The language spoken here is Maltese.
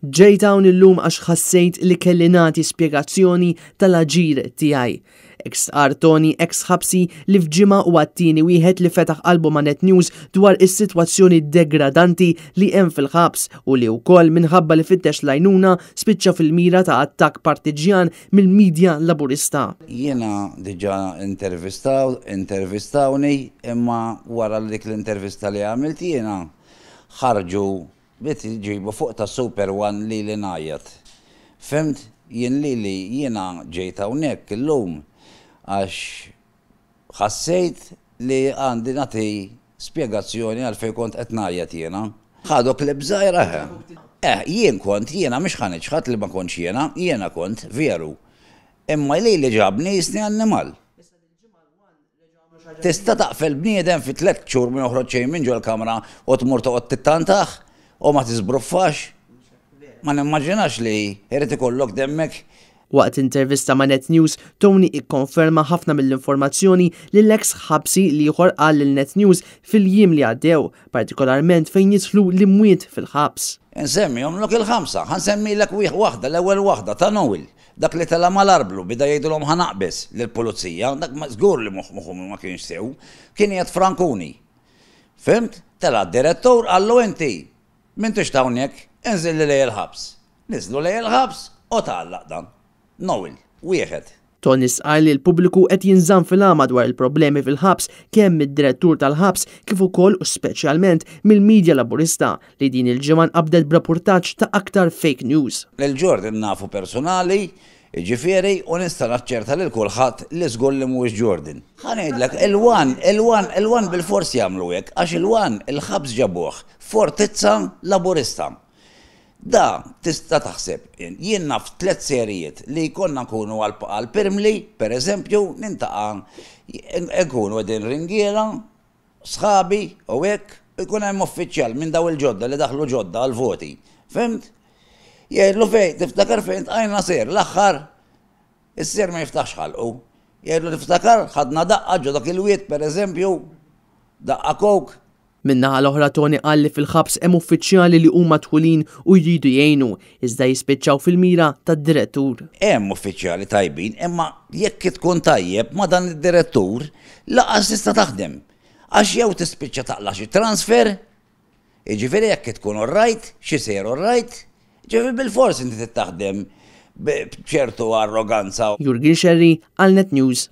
Ġejt hawn illum għax ħassejt li kelli nagħti spjegazzjoni tal-aġir tiegħi. Hekk stqarr Tony eks ħabsi li f'ġimgħa huwa t-tieni wieħed li fetaħ qalbu ma' Net News dwar is-sitwazzjoni degradanti li hemm fil-ħabs u li wkoll minħabba li fittex l-għajnuna spiċċa fil-mira ta' attakk partiġġjan mill-media Laburista. Jiena diġà intervistaw, intervistawni imma wara dik l-intervista li għamilt jiena ħarġu Bdiet iġibu fuq ta' Super One lili ngħajjat. Fhimt? Jien lili jiena ġejt hawnhekk illum għax ħassejt li għandi nagħti spjegazzjoni għalfejn kont qed ngħajjat jiena. Ħadu clip żgħira eħe. Eh, jien kont, jiena mhux ħa niċħad li ma kontx jiena, jiena kont, veru. Imma lili ġabni jisni annimal. Tista' taqfel bniedem fi tlett xhur ma joħroġ xejn minn ġol-kamra u tmur toqgħod tittantah u ma tiżbruffax? Ma nimmaġinax li jrid ikollok demmek. Waqt intervista ma' Net News, Tony ikkonferma ħafna mill-informazzjoni li l-eks ħabsi l-ieħor qal lil Net News fil-jiem li għaddew, partikolarment fejn jidħlu l-imwiet fil-ħabs. Insemmihomlok il-ħamsa. Ħa nsemmilek waħda, l-ewwel waħda, ta' Noel. Dak li tela' mal-arblu, beda jgħidilhom ħa naqbeż lill-pulizija, dak żgur li moħħu ma kienx sew, kien qiegħed Frankuni. Fhimt? Tela' d-direttur qallu inti m'intix t'hawnhekk, inżilli lejn il-ħabs. Niżlu lejn il-ħabs u tgħallaq dan. Noel, wieħed. Tony stqarr li l-pubbliku qed jinżamm fil-għama dwar il-problemi fil-ħabs kemm mid-direttur tal-ħabs kif ukoll u speċjalment mill-media Laburista li din il-ġimgħa nqabdet b'rapurtaġġ ta' aktar fake news. Lil Jordan nafu personali, jiġifieri, u nista' naċċerta lil kulħadd li żgur li mhuwiex Jordan. Ħa ngħidlek, il-One, il-One, il-One bilfors jagħmlu hekk, għax il-One, il-ħabs ġabuh fortizza Laburista. Da, tista' taħseb, jien naf tlett serijiet li konna nkunu għal Pirmli, per eżempju, nintaqa' nkunu qegħdin ringiela, sħabi u hekk, u jkun hemm uffiċjal minn daw il-ġodda li daħlu ġodda għall-voti. Fhimt? Jgħidlu fejn, tiftakar fejn tqajna ser, l-aħħar, is-ser ma jiftaħx ħalqu. Jgħidlu tiftakar, ħadna daqqa ġo dak il-wied pereżempju, daqqa coke. Min-naħa l-oħra Tony qal li fil-ħabs hemm uffiċjali li huma dħulin u jridu jgħinu, iżda jispiċċaw fil-mira tad-direttur. Hemm uffiċjali tajbin imma jekk tkun tajjeb ma' dan id-direttur lanqas tista' taħdem. Għax jew tispiċċa taqla' xi transfer, jiġifieri jekk tkun all right, xi sejjer all right, jiġifieri bilfors inti trid taħdem b'ċertu arroganza. Jurgen Scerri għal Net News.